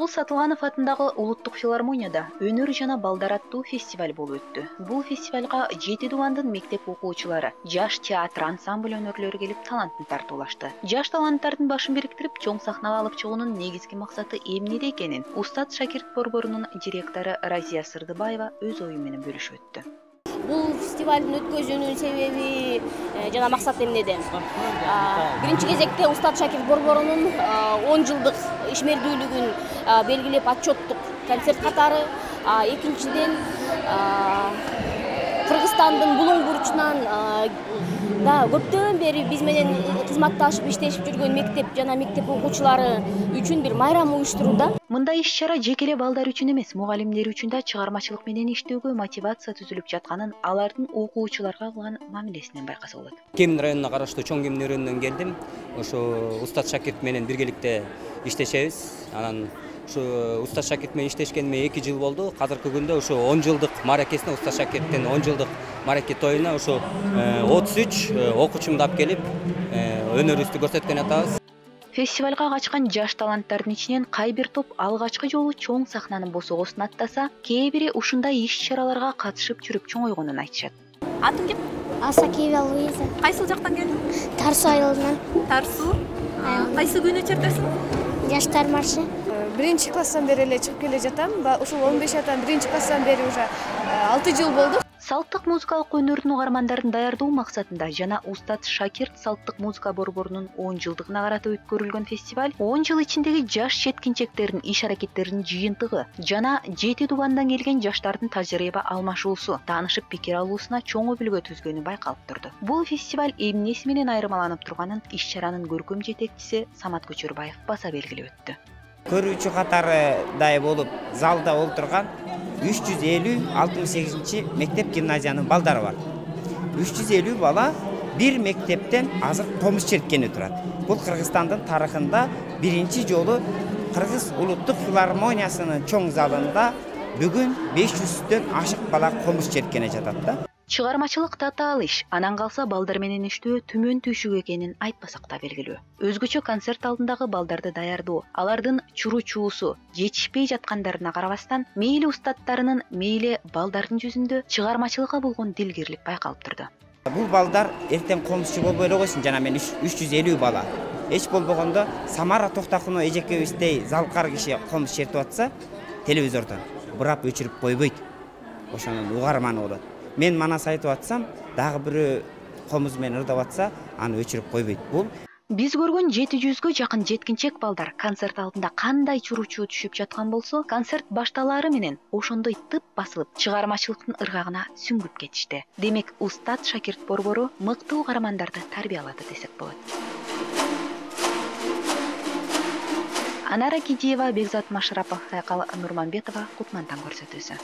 Тогуз Сатылганов атындагы улуттук филармонияда өнөр жана балдар аттуу фестиваль болуп өттү. Бул фестивалга 7 дубандын мектеп окуучулары, жаш театр ансамбль өнөрлөрү келип талантын тартуулашты. Жаш таланттардын башын бириктирип, чоң сахнага алып чыгуунун негизги максаты эмнеде экенин Устат Шакирт борборунун директору Разия Сырдыбаева өз ою менен бөлүшүп өттү. Бул фестивалдын өткөзүүнүн себеби жана максаты эмнеде? Биринчи кезекте Устат Шакирт борборунун 10 жылдык ишмердүүлүгүн белгилеп отчеттук концерт катары, экинчиден Кыргызстандын булуң бурчунан да көптөн бери биз менен кызматташып иштешип жүргөн мектеп жана мектеп окуучулары үчүн бир майрам уюштурууда. Мындай иш-чара жеке эле балдар үчүн эмес, мугалимдер үчүн да чыгармачылык менен иштөөгө мотивация түзүлүп жатканын алардын окуучуларга кылган мамилесинен байкаса болот. Кемин районуна караштуу Чоң Кемин районунан келдим. Ошо Устат Шакирт менен биргеликте иштешебиз. Анан ушу Устат Шакирт менен иштешкениме 2 жыл болду. Азыркы күндө ошо 10 жылдык мааракесине, Устат Шакирттин 10 жылдык маараке тоюна ошо 33 окуучумду алып келип, өнөрүбүздү көрсөткөн атабыз. Фестивалга качкан жаш таланттардын ичинен кай бир топ алгачкы жолу чоң сахнанын босогосун аттаса, кээ бири ушундай иш-чараларга катышып жүрүп чоңойгонун айтышат. Атың ким? Асакиева Луиза. Кайсыл жактан келдиң? Тарсу айылынан. Тарсу. Кайсы күнү чертесиң? Жаштар маршы. Биринчи класстан бери эле чыгып келе жатам. Ушул 15 жаштан биринчи класстан бери уже 6 жыл болду. Салттык музыкалык өнөрдүн угармандарын даярдоо максатында жана Устат Шакирт салттык музыка борборунун 10 жылдыгына карата өткөрүлгөн фестиваль 10 жыл ичиндеги жаш жеткинчектердин иш-аракеттеринин жыйынтыгы жана 7 дубандан келген жаштардын тажрыйба алмашуусу, таанышып пикир алуусуна чоң өбүлгө түзгөнү байкалып турду. Бул фестиваль эмнеси менен айырмаланып турганын иш-чаранын көркөм жетекчиси Самат Көчөрбаев баса белгилеп өттү. Көрүүчү катарыдай болуп залда олтурган 350-68 мектеп гимназиянын балдары бар. 350 бала бир мектептен азыр комуз черткени турат. Бул Кыргызстандын тарыхында биринчи жолу Кыргыз улуттук филармониясынын чоң залында бүгүн 500дөн ашык бала комуз черткене жатат да. Чыгармачылык татаал иш, анан калса балдар менен иштөө түмөн түйшүк экенин айтпасак да белгилүү. Өзгөчө концерт алдындагы балдарды даярдоо, алардын чуруу-чуусу жетишпей жаткандарына карабастан, мейли устаттарынын, мейли балдардын жүзүндө чыгармачылыкка болгон дилгирлик байкалып турду. Бул балдар эртең комузчу болбой эле койсун, жана мен 350 бала. Эч болбогондо Самара Токтакунова эжекебиздей залкар киши комуз чертип атса, телевизордон бурап өчүрүп койбойт. Ошонун угарманы болот. Мен манас айтып атсам, дагы бирөө комуз менен ырдап атса, аны өчүрүп койбойт. Бул биз көргөн 700гө жакын жеткинчек балдар концерт алдында кандай чуруу-чуу түшүп жаткан болсо, концерт башталаары менен ошондой тып басылып, чыгармачылыктын ыргагына сүңгүп кетишти. Демек, Устат Шакирт борбору мыкты угармандарды тарбиялады десек болот. Анара Кидиева, Бекзат Машрапов, Сайкал Нурманбетова, Кутмантан көрсөтүүсү.